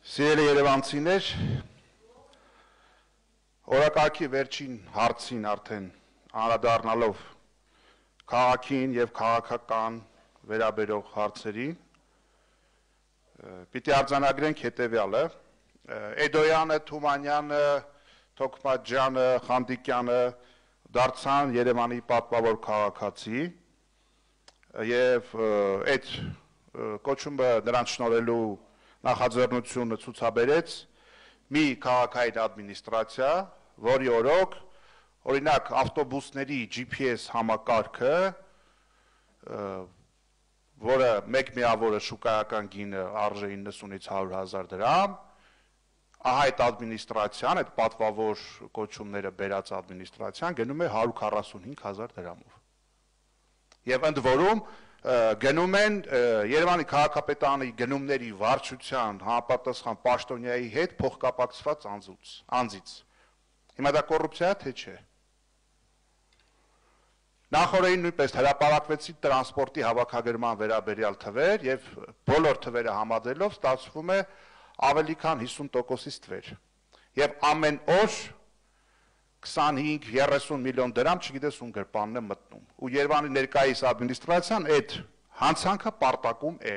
Սիրելի երևանցիներ, օրակարգի վերջին հարցին արդեն անդրադառնալով քաղաքին եւ քաղաքական վերաբերող հարցերին, պիտի արձանագրենք հետեւյալը. Էդոյանը, Թումանյանը, Թոքմաջյանը, Խանդիկյանը դարձան Երևանի պատվավոր քաղաքացի եւ այդ կոչումը նրանց շնորհելու նախաձեռնությունը ցուցաբերեց մի քաղաքային ադմինիստրացիա, որի օրոք օրինակ ավտոբուսների GPS համակարգը, որը մեկ միավորը շուկայական գինը արժե 90-ից 100,000 դրամ, ահա այդ ադմինիստրացիան, այդ պատվավոր կոչումները բերած ադմինիստրացիան գնում է 145,000 դրամով։ Եվ ընդ որում գնում են Երևանի քաղաքապետարանի գնումների վարչության համապատասխան պաշտոնյայի հետ փոխկապակցված անձից։ Հիմա դա կոռուպցիա թե չէ։ Նախորդին նույնպես հրապարակվեցին տրանսպորտի հավաքագրման վերաբերյալ թվեր եւ բոլոր թվերը համադրելով ստացվում է ավելի քան 50%-ից թվեր։ Եվ ամեն օր 25-30 միլիոն դրամ չգիտես ում գրպանն է մտնում։ Ու Երևանի ներկայիս ադմինիստրացիան այդ հանցանքը պարտակում է։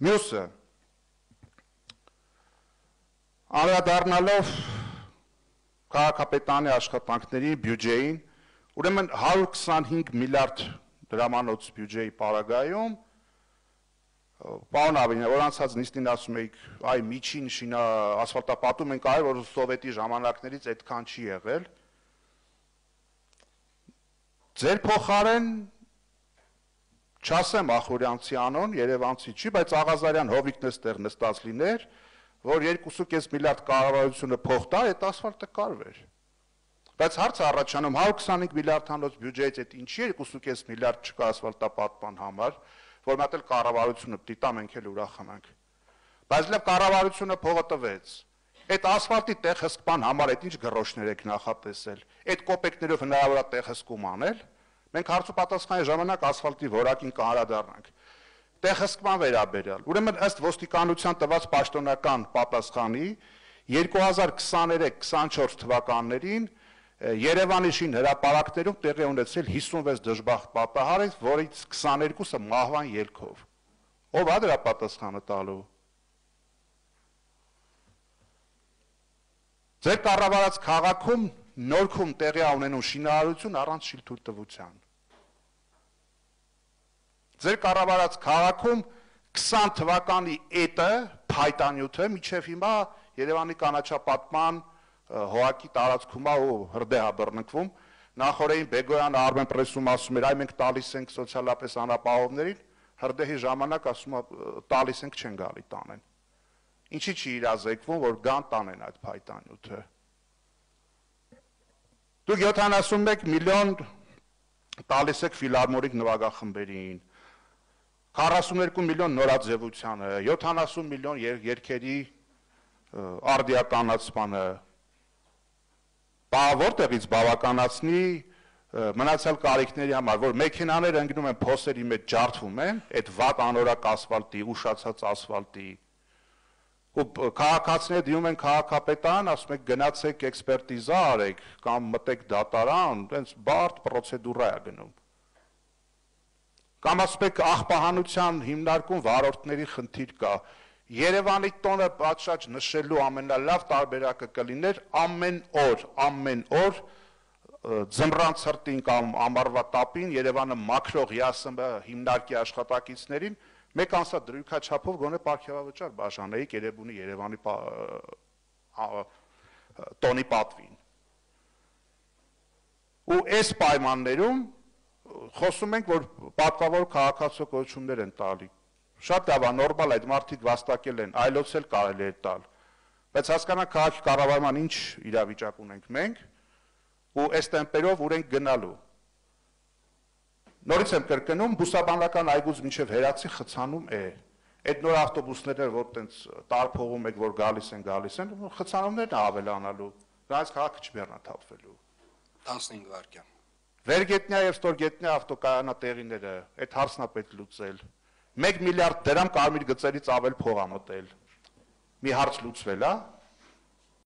Մյուսը անդրադառնալով քաղաքապետարանի աշխատանքների բյուջեին, ուրեմն 125 միլիարդ դրամանոց բյուջեի պարագայում Պարոն Ավինյան, որ անցած նիստին ասում եք, այ միջին ասֆալտապատում ենք արել, որ սովետի ժամանակներից այդքան չի եղել։ Ձեր փոխարեն չասեմ Ախուրյանցի անուն, Երևանցի չի, բայց Աղազարյան Հովիկն էստեղ նստած լիներ, որ 2.5 միլիարդ կառավարությունը փող տար, այդ ասֆալտը կարվեր։ Բայց հարցը առաջանում 125 միլիարդանոց բյուջեից այդ ինչի 2.5 միլիարդ չկա ասֆալտապատման համար, որ մատել կառավարությունը պիտի տա մենք էլ ուրախանանք։ Բայց լավ կառավարությունը փողը տվեց։ Այդ ասֆալտի տեղհսկման համար այդ ինչ գրոշներ եք նախատեսել։ Այդ կոպեկներով հնարավոր է տեղհսկում անել։ Մենք հարցու պատասխանի ժամանակ ասֆալտի որակին կհարադառնանք։ Տեղհսկման վերաբերյալ։ Ուրեմն ըստ ոստիկանության տված պաշտոնական պատասխանի 2023-24 թվականներին Երևանի շին հրապարակներում տեղի ունեցել 56 դժբախտ պատահարից, որից 22-ը մահվան ելքով։ Ով է դրա պատասխանը տալու։ Ձեր կառավարած քաղաքում Նորքում տեղի ունենում շինարարություն առանց շինթույլտվության։ Ձեր կառավարած քաղաքում 20 թվականի էտը, փայտանյութը մինչև հիմա Երևանի կանաչապատման հողակի տարածքում է ու հրդեհ է բռնկվում, նախորդին Բեգոյանը Արմեն պրեսում ասում էր, այ մենք տալիս ենք սոցիալապես անապահովներին, հրդեհի ժամանակ ասում է տալիս ենք չեն գալի տանեն։ Ինչի՞ չի իրազեկվում, որ գան տանեն այդ փայտանյութը։ Դուք 71 միլիոն տալիս եք ֆիլհարմոնիկ նվագախմբերին, 42 միլիոն նորաձևությանը, 70 միլիոն երգերի արդիականացմանը, որտեղից բավականացնի մնացյալ կարիքների համար, որ մեքենաները ընկնում են փոսերի մեջ ջարդվում են, այդ վատ անորակ ասֆալտի, ուշացած ասֆալտի, ու քաղաքացիները դիմում են քաղաքապետարան, ասում եք գնացեք էքսպերտիզա արեք կամ մտեք դատարան, այնց բարդ պրոցեդուրա է գնում։ Կամ ասում եք աղբահանության հիմնարկում վարորդների խնդիր կա։ Երևանի տոնը պատշաճ նշելու ամենալավ տարբերակը կլիներ ամեն օր ձմռան ցրտին կամ ամառվա տապին Երևանը մաքրող ՀՅԱՍՄ հիմնարկի աշխատակիցներին մեկ ամսա դրույքաչափով գոնե պարգևավճար բաժանեիք Երևանի տոնի պատվին։ Ու այս պայմաններում խոսում ենք, որ պատվավոր քաղաքացու կոչումներ են տալի։ Շատ լավ է, նորմալ է, այդ մարդիկ վաստակել են, այլոց էլ կարելի է տալ։ Բայց հասկանանք քաղաքի կառավարման ինչ իրավիճակ ունենք մենք, ու այս տեմպերով ուր ենք գնալու։ Նորից եմ կրկնում, բուսաբանական այգուց մինչև Հերացի խցանում է։ Այդ նոր ավտոբուսները, որ տենց տարփողում եք, որ գալիս են, խցանումներն ավելանալու։ Դրանից քաղաքը չբեռնաթափվելու։ 15 վայրկյան։ Վերգետնյա եւ ստորգետնյա ավտոկայանատեղիները, այդ հարցն է պետք լուծել։ 1 միլիարդ դրամ կարմիր գծերից ավել փող ա մտել։ Մի հարց լուծվել է։